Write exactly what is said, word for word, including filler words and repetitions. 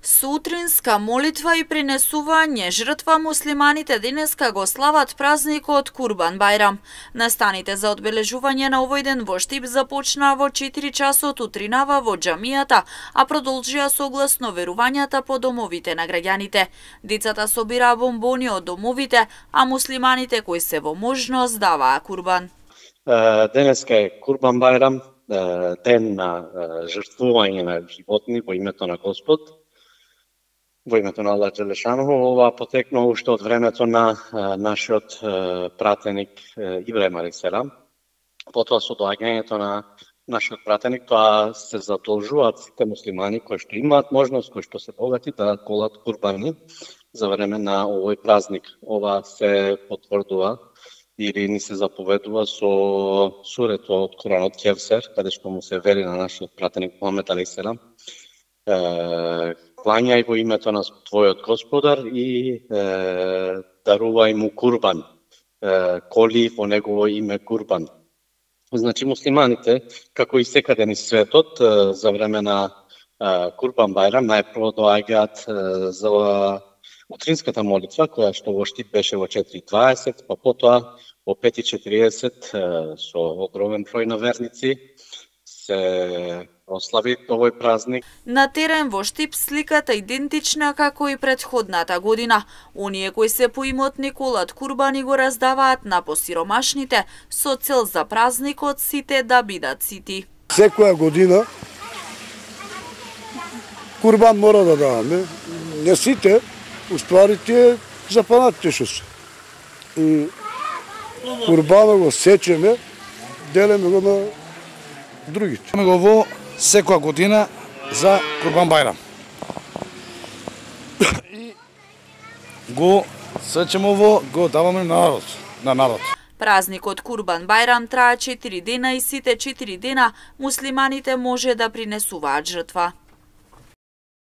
Сутринска молитва и принесување жртва муслиманите денеска го слават празникот Курбан Бајрам. Настаните за одбележување на овој ден во Штип започнаа во четири часот утринава во џамијата, а продолжија согласно верувањата по домовите на граѓаните. Децата собираа бомбони од домовите, а муслиманите кои се во можност даваа курбан. Денеска е Курбан Бајрам, ден на жртвување на животни во името на Господ. Во името на Аллах Джелешанову, ова потекнува уште од времето на а, нашиот а, пратеник Ибраим алейхиселам. Потоа со доаѓањето на нашиот пратеник, тоа се задолжуваат сите муслимани кои што имаат можност, кои што се богати да колат курбани за време на овој празник. Ова се потврдува или ни се заповедува со сурето од Куранот Кевсер, каде што му се вели на нашиот пратеник Мухамед алейхиселам: клањај во името на твојот Господар и е, дарувај му курбан, е, коли во негово име курбан. Значи муслиманите, како и секаде низ светот, е, за време на е, Курбан Бајрам најпрво доаѓаат е, за утринската молитва, која што во Штип беше во четири и дваесет, па потоа во пет и четириесет е, со огромен број на верници се прослави овој празник. На терен во Штип сликата идентична како и претходната година. Оние кои се поимотни колат курбани го раздаваат на посиромашните со цел за празникот сите да бидат сити. Секоја година курбан мора да даваме. Не сите, уствари тие запанатите што се. И курбана го сечеме, делеме го на другите. Имаме го во секоја година за Курбан Бајрам. И го сечеме во, го даваме на народ, на народ. Празникот Курбан Бајрам трае четири дена и сите четири дена муслиманите може да принесуваат жртва.